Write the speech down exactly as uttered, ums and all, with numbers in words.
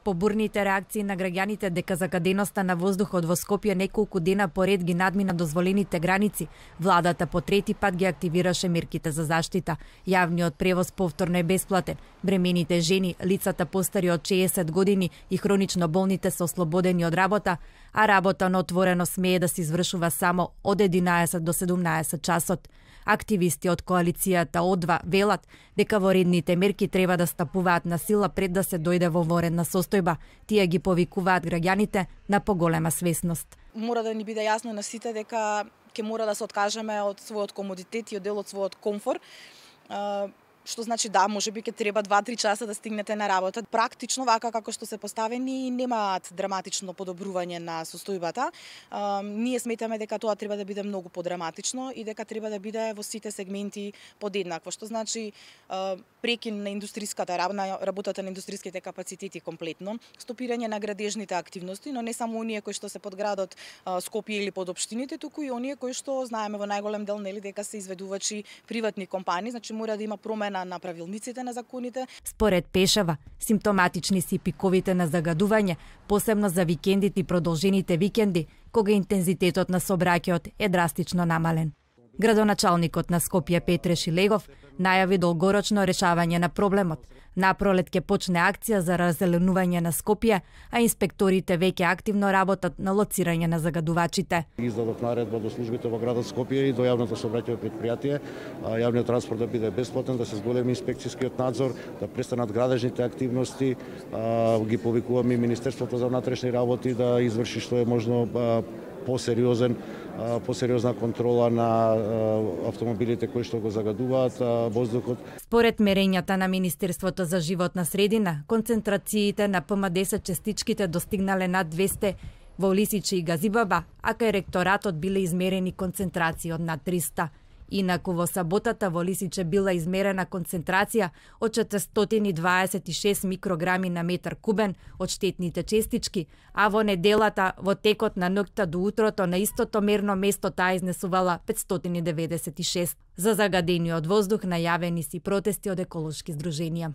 побурните реакции на граѓаните дека загаденоста на воздухот во Скопје неколку дена поред ги надмина дозволените граници, владата по трети пат ги активираше мерките за заштита. Јавниот превоз повторно е бесплатен. Бремените жени, лицата постари од шеесет години и хронично болните се ослободени од работа, а работа на отворено смее да се извршува само од единаесет до седумнаесет часот. Активисти од коалицијата О два велат дека воредните мерки треба да стапуваат на сила пред да се дојде во воредна состојба. Тие ги повикуваат граѓаните на поголема свесност. Мора да ни биде јасно на сите дека ќе мора да се откажеме од својот комодитет и од дел од својот комфор. Што значи да, можеби ќе треба два-три часа да стигнете на работа. Практично, вака како што се поставени, немаат драматично подобрување на состојбата. А, ние сметаме дека тоа треба да биде многу подраматично и дека треба да биде во сите сегменти подеднакво. Што значи а, прекин на индустријската на работата на индустријските капацитети комплетно, стопирање на градежните активности, но не само оние кои што се под градот а, Скопје или под општините, туку и оние кои што знаеме во најголем дел нели дека се изведувачи приватни компании, значи мора да има промена на правилниците на законите. Според Пешева, симптоматични си пиковите на загадување, посебно за викендите и продолжените викенди, кога интензитетот на сообраќајот е драстично намален. Градоначалникот на Скопје Петре Шилегов најави долгорочно решавање на проблемот. Напролет ќе почне акција за раззеленување на Скопје, а инспекторите веќе активно работат на лоцирање на загадувачите. Издадов наредба до службите во градот Скопје и до јавното сообраќајно предпријатие, јавниот транспорт да биде бесплатен, да се зголеми инспекцијскиот надзор, да престанат градежните активности, ги повикуваме и Министерството за внатрешни работи да изврши што е можно посериозен посериозна контрола на автомобилите кои што го загадуваат воздухот. Според мерењата на Министерството за животна средина, концентрациите на П М десет частичките достигнале над двесте во Лисиче и Газибаба, а кај ректоратот биле измерени концентрации од над триста. Инаку во саботата во Лисиче била измерена концентрација од четиристотини и дваесет и шест микрограми на метар кубен од штетните честички, а во неделата во текот на ноќта до утрото на истото мерно место таа изнесувала петстотини и деветдесет и шест. За загадениот воздух најавени си протести од еколошки здруженија.